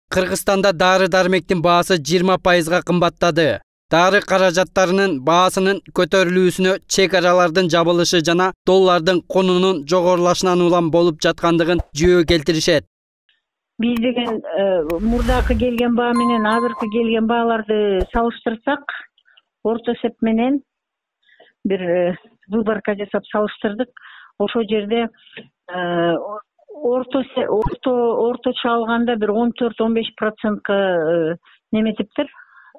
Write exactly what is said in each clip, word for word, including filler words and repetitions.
Кыргызстанда дары-дармектин баасы жыйырма пайызга кымбаттады. Дары каражаттарынын баасынын көтөрүлүүсүнө чек аралардын жабылышы жана доллардын конунун жогорулашынан улам болуп жаткандыгын жөө келтиришет. Биз деген мурдакы келген баа менен азыркы келген бааларды салыштырсак, орто эсеп менен бир выборка жасап салыштырдык. Ошол жерде орто орто орточо алганда бир он төрт он беш процентке неметиптир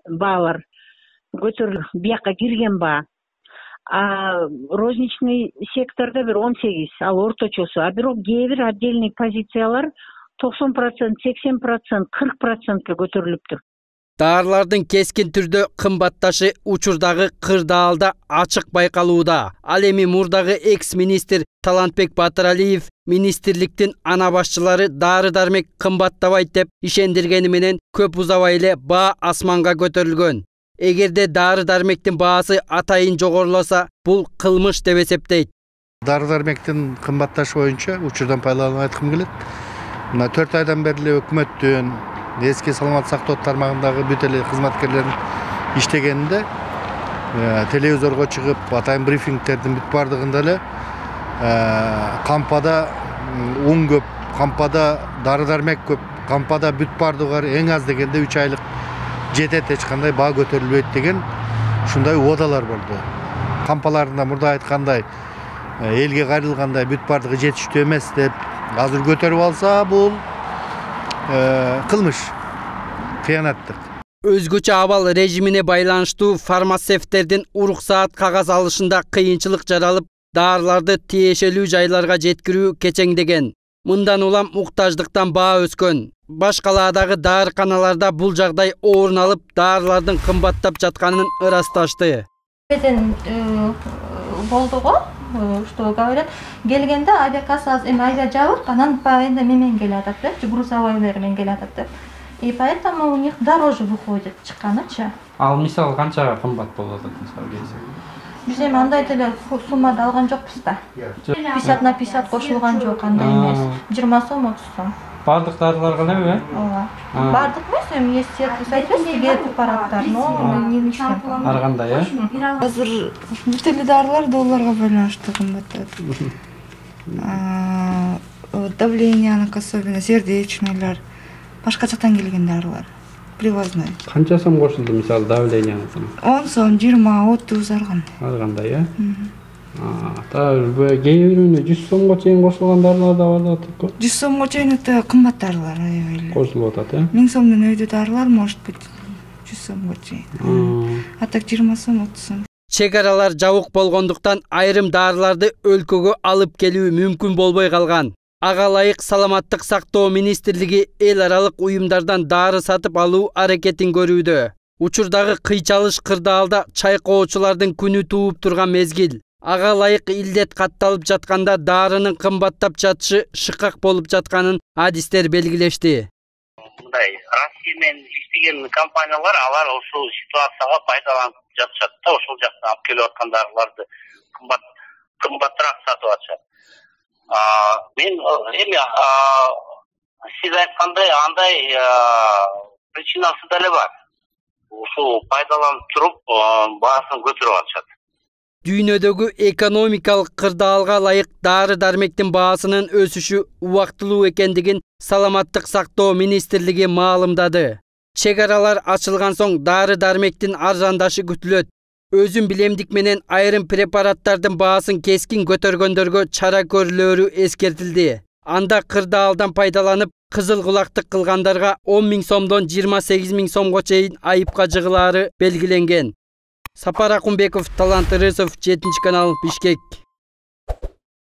баалар көтөрүлүп, бияка кирген баа. А розничный секторда бир он сегиз, ал орточосу. А бирок кээ бир отдельный позициялар токсон процент, сексен процент, кырк процентке көтөрүлүптүр. Дарылардын кескин түрдө кымбатташы учурдагы кырдаалда ачык байкалууда. Ал эми мурдагы экс-министр Талантбек Батыралиев министрликтин ана башчылары дары-дармек кымбаттабайт деп ишендиргени менен көп узабай эле баа асманга көтөрүлгөн. Эгерде дары-дармектин баасы атайын жогоруласа, бул кылмыш деп эсептейт. Дары-дармектин кымбатташы боюнча учурдан пайдаланып айткым келет. Мына төрт айдан бери эле өкмөттүн эски саламат сактоо тармагындагы бүт эле кызматкерлердин иштегенинде телевизорго чыгып атайын брифингтердин бүт бардыгында эле кампада un көп, кампада дары-дармек көп, кампада бүт бардыгы бар, эң аз дегенде үч айлык жетет, эч кандай баа көтөрүлбөйт деген ушундай убадалар болду. Кампаларында мурда айткандай элге кайрылгандай бүт бардыгы жетиштүү эмес деп азыр көтөрүп алса, бул кылмыш, кыянаттык. Өзгөчө абал режимине байланыштуу фармацевттердин уруксаат кагаз алышында кыйынчылык жаралып, дарыларды тиешелүү жайларга жеткирүү кечеңдеген. Мындан улам уктаждыктан баа өскөн. Баш калаадагы даарыканаларда бул жагдай орун алып, дарылардын кымбаттап жатканын ырасташты. Болду го, что говорят, келгенде авиакасса эми айда жабык, анан пайында менен келатат деп, грузовойлор менен келатат деп. И поэтому у них дороже выходит чыкканычы. Ал мисалы канчага кымбат болот мисалы келсе? Биз эми андай деле суммада алган жокпуз да. пятьдесят на пятьдесят кошулган жок, андай эмес. жыйырма сом, отуз сом. Бардык дарыларга элеби? Ооба. Бардык эмес, эми есть соответствие препараттар, но не лишний. Ар кандай, э? Азыр бүт эле дарылар долларга байланыштуу кымбаттат. Давленияныкы, особенно сердечныйлар, башка жактан келген дарылар. Привозной. Канча сом кошулду мисалы давленияныкы? он сом, жыйырма, отуз ар кандай. Ар кандай, э? Та кээ бирүүнө жүз сомго чейин кошулган дарылар да бар да. жүз сомго чейин өтө кымбат дарылар аябай. Кошулуп атат, э? миң сомдон өйдө дарылар может быть жүз сомго чейин. А так жыйырма сом, отуз сом. Чек аралар жабык болгондуктан айрым дарыларды өлкөгө алып келүү мүмкүн болбой калган. Ага ылайык Саламаттык сактоо министрлиги эл аралык уюмдардан дары сатып алуу аракетин көрүүдө. Учурдагы кыйчалыш кырдаалда чайкоочулардын күнү тууп турган мезгил. Ага ылайык илдет катталып жатканда дарынын кымбаттап жатышы шыкак болуп жатканын адистер белгилешти. Мындай Россия менен иштеген компаниялар алар ушул ситуацияга пайдаланып жатышат да, ошол жактан алып келип аткан дарыларды кымбат кымбатыраак сатып атышат. Мен эми сиз айткандай андай причинасы деле бар. Ушул пайдаланып туруп баасын көтөрүп атышат. Дүйнөдөгү экономикалык кырдаалга ылайык дары-дармектин баасынын өсүшү убактылуу экендигин Саламаттык сактоо министрлиги маалымдады. Чек аралар ачылган соң дары-дармектин арзандашы күтүлөт. Өзүн билемдик менен айрым препараттардын баасын кескин көтөргөндөргө чара көрүлөрү эскертилди. Анда кырдаалдан пайдаланып, кызыл кулактык кылгандарга он миң сомдон жыйырма сегиз миң сомго чейин айыпка жыгылаары белгиленген. Сапар Акунбеков, Талант Ырысов, жетинчи канал, Бишкек.